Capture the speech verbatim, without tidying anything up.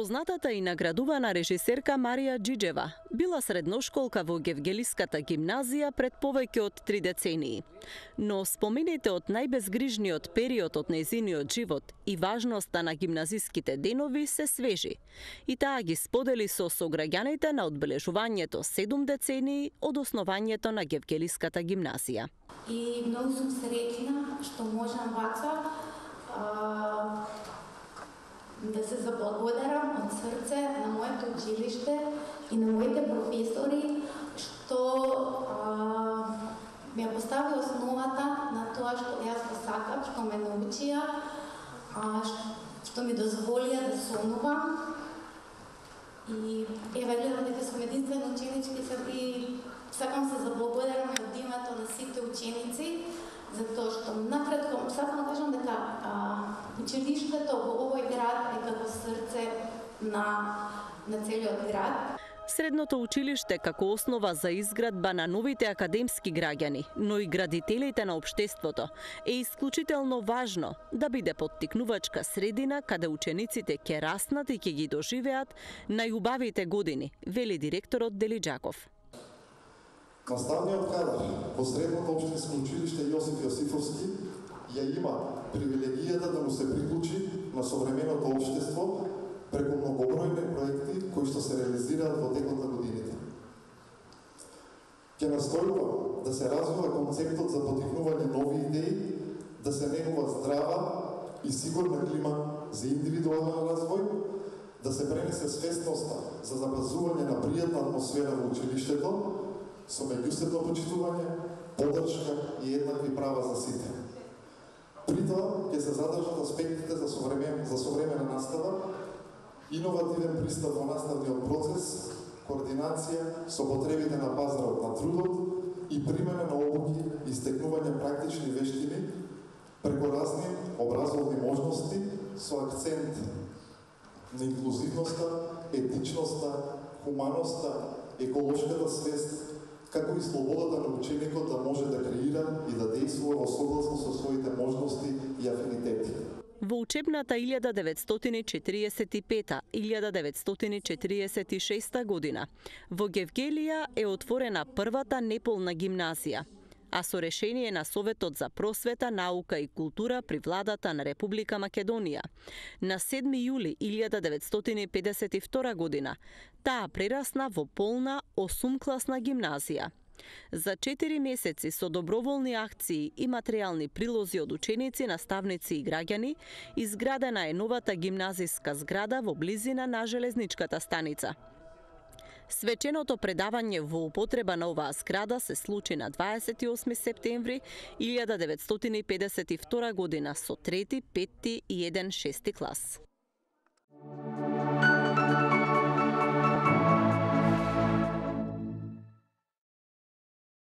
Познатата и наградувана режисерка Марија Џиџева била средношколка во Гевгелиската гимназија пред повеќе од три децении. Но спомените од најбезгрижниот период од нејзиниот живот и важноста на гимназиските денови се свежи. И таа ги сподели со сограѓаните на одбележувањето седум децении од основањето на Гевгелиската гимназија. И многу сум среќна што можам вака а... да се заблагодарам од срце на моето училиште и на моите професори што а, ми ја постави основата на тоа што јас го сакам, што ме научија, а, што ми дозволија да сонувам. И еве гледам дека сум единствена ученичка и сакам се заблагодарам од името на сите ученици, затоа што накратко сакам да кажам дека а, училиштето во овој град е како срце на на целиот град. Средното училиште како основа за изградба на новите академски граѓани, но и градителите на општеството, е исклучително важно да биде поттикнувачка средина каде учениците ќе раснат и ќе ги доживеат најубавите години, вели директорот Делиџаков. Наставниот кадар во Средното општинско училиште Јосиф Јосифовски ја има привилегијата да му се приклучи на современото општество преку многобројни проекти кои што се реализираат во текот на годините. Ќе настојува да се развива концептот за поттикнување нови идеи, да се негува здрава и сигурна клима за индивидуален развој, да се пренесе свесноста за запазување на пријатна атмосфера во училиштето, со меѓусебно почитување, поддршка и еднакви права за сите. При тоа ќе се задржат аспектите за современ, за современа настава, иновативен пристап во наставниот процес, координација со потребите на пазарот на трудот и примена на обуки и стекнување практични вештини преку разни образовни можности со акцент на инклузивноста, етичноста, хуманоста, еколошката свест, како и слободата на ученикот да може да креира и да действува во согласно со своите можности и афинитети. Во учебната илјада деветстотини четириесет и пета - илјада деветстотини четириесет и шеста година во Гевгелија е отворена првата неполна гимназија, а со решение на Советот за просвета, наука и култура при владата на Република Македонија на седми јули илјада деветстотини педесет и втора година таа прерасна во полна осумкласна гимназија. За четири месеци со доброволни акции и материјални прилози од ученици, наставници и граѓани, изградена е новата гимназиска зграда во близина на железничката станица. Свеченото предавање во употреба на оваа зграда се случи на дваесет и осми септември илјада деветстотини педесет и втора година со трети, петти и еден шести клас.